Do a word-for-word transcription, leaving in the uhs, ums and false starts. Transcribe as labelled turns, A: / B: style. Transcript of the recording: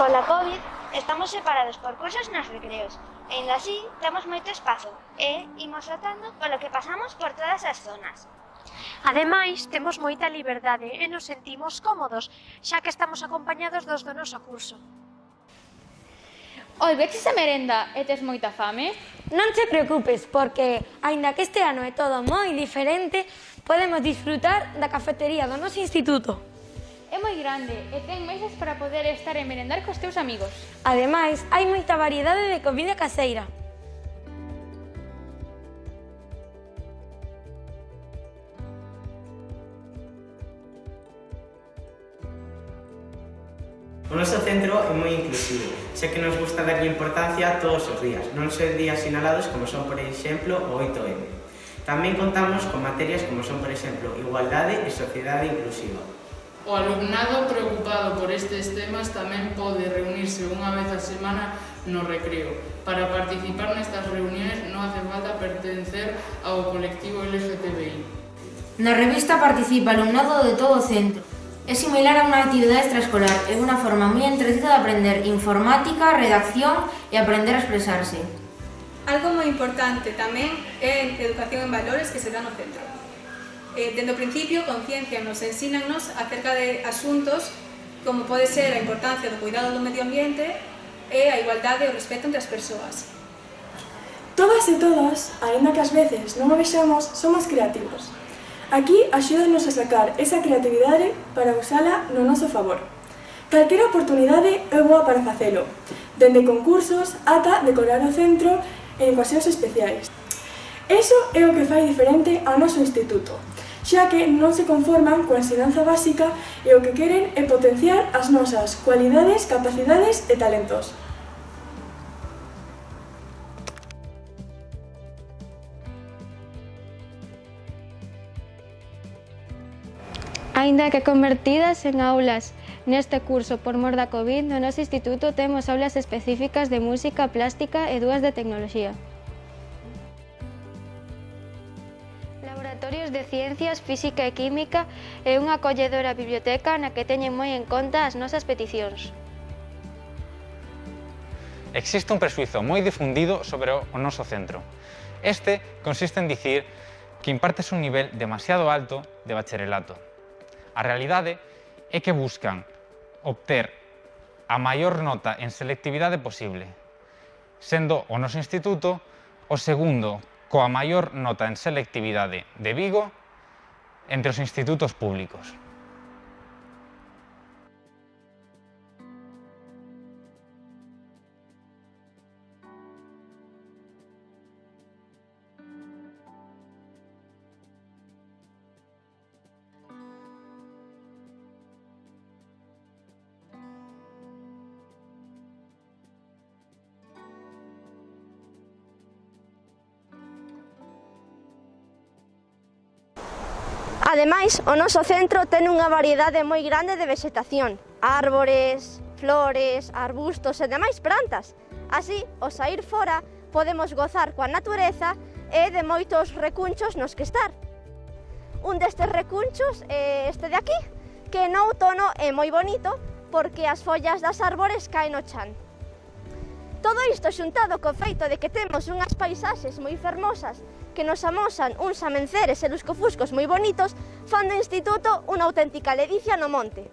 A: Pola COVID, estamos separados por cursos nos recreos, e ainda así temos moito espazo e imos rotando polo que pasamos por todas as zonas.
B: Ademais, temos moita liberdade e nos sentimos cómodos, xa que estamos acompañados dos do noso curso.
C: Oi, veches a merenda e tes moita fame?
D: Non te preocupes, porque, aínda que este ano é todo moi diferente, podemos disfrutar da cafetería do noso instituto.
C: É moi grande e ten mesas para poder estar e merendar cos teus amigos.
D: Ademais, hai moita variedade de comida caseira.
E: O noso centro é moi inclusivo, xa que nos gusta darlle importancia a todos os días, non só días sinalados como son, por exemplo, o oito eme. Tamén contamos con materias como son, por exemplo, igualdade e sociedade inclusiva.
F: O alumnado preocupado por estes temas tamén pode reunirse unha vez a semana no recreo. Para participar nestas reunións non hace falta pertencer ao colectivo L G T B I.
G: Na revista participa alumnado de todo o centro. É similar a unha actividade extraescolar, é unha forma moi entretida de aprender informática, redacción e aprender a expresarse.
H: Algo moi importante tamén é a educación en valores que se dá no centro. Eh, dende o principio, conciencianos e ensínanos acerca de asuntos como pode ser a importancia do cuidado do medio ambiente e a igualdade e o respeto entre as persoas.
I: Todas e todas, aínda que ás veces non o vexamos, somos creativos. Aquí axúdanos a sacar esa creatividade para usala no noso favor. Calquera oportunidade é boa para facelo, dende concursos ata decorar o centro en ocasións especiais. Iso é o que fai diferente ao noso instituto, xa que non se conforman coa ensinanza básica e o que queren é potenciar as nosas cualidades, capacidades e talentos.
J: Aínda que convertidas en aulas neste curso por mor da COVID, no noso instituto temos aulas específicas de música, plástica e dúas de tecnoloxía. Laboratorios de ciencias, física e química e unha acolledora biblioteca na que teñen moi en conta as nosas peticións.
K: Existe un prexuízo moi difundido sobre o noso centro. Este consiste en dicir que impartes un nivel demasiado alto de bacharelato. A realidade é que buscan obter a maior nota en selectividade posible, sendo o noso instituto o segundo coa maior nota en selectividade de Vigo entre os institutos públicos.
L: Ademais, o noso centro ten unha variedade moi grande de vexetación, árbores, flores, arbustos e demais plantas. Así, ao saír fora, podemos gozar coa natureza e de moitos recunchos nos que estar. Un destes recunchos é este de aquí, que no outono é moi bonito porque as follas das árbores caen no chan. Todo isto xuntado co feito de que temos unhas paisaxes moi fermosas que nos amosan uns amenceres e luscofuscos moi bonitos, fan do instituto unha auténtica ledicia no monte.